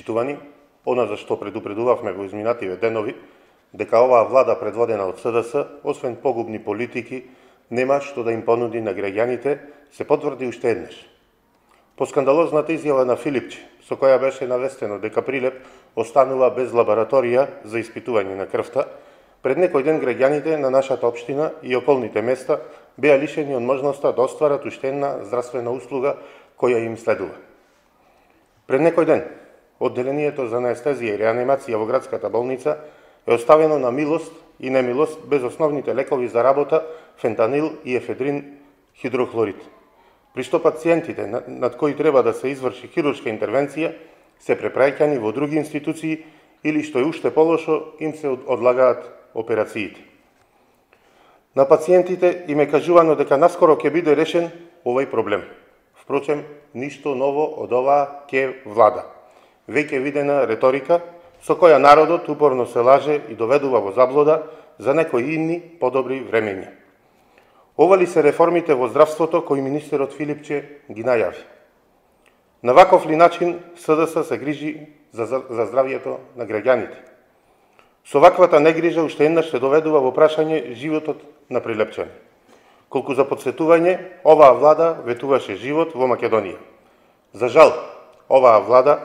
Почитувани, она за што предупредувавме во изминативе денови, дека оваа влада предводена од СДС, освен погубни политики, нема што да им понуди на граѓаните, се потврди уште еднаш. По скандалозната изјава на Филипче, со која беше навестено дека Прилеп останува без лабораторија за испитување на крвта, пред некој ден граѓаните на нашата општина и околните места беа лишени од можноста да остварат уште една здравствена услуга која им следува. Пред некој ден, одделението за анестезија и реанимација во градската болница е оставено на милост и немилост без основните лекови за работа фентанил и ефедрин хидрохлорид. При што пациентите над кои треба да се изврши хируршка интервенција се препраќани во други институции или што е уште полошо им се одлагаат операциите. На пациентите им е кажувано дека наскоро ќе биде решен овој проблем. Впрочем, ништо ново од оваа ќе влада. Веќе видена реторика со која народот упорно се лаже и доведува во заблуда за некои инни подобри времења. Ова ли се реформите во здравството кои министерот Филипче ги најави? На ваков ли начин СДС се грижи за здравјето на граѓаните? Со ваквата негрижа уште еднаш се доведува во прашање животот на прилепчани. Колку за подсетување, оваа влада ветуваше живот во Македонија. За жал, оваа влада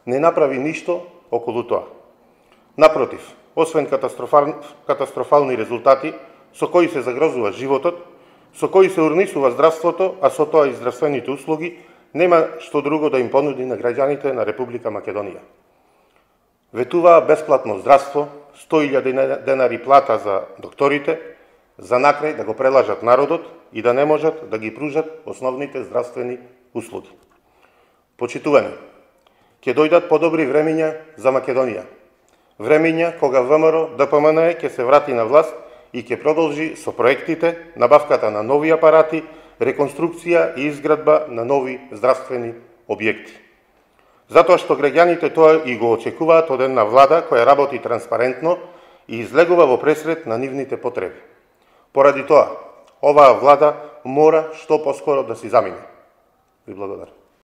не направи ништо околу тоа. Напротив, освен катастрофални резултати со кои се загрозува животот, со кои се урнисува здравството, а со тоа и здравствените услуги, нема што друго да им понуди на граѓаните на Република Македонија. Ветуваа бесплатно здравство, 100.000 денари плата за докторите, за накрај да го прелажат народот и да не можат да ги пружат основните здравствени услуги. Почитувани, ќе дојдат подобри времења за Македонија. Времења кога ВМРО ДПМН ќе се врати на власт и ќе продолжи со проектите, набавката на нови апарати, реконструкција и изградба на нови здравствени објекти. Затоа што граѓаните тоа и го очекуваат од една влада која работи транспарентно и излегува во пресред на нивните потреби. Поради тоа, оваа влада мора што поскоро да си замине. Ви благодарам.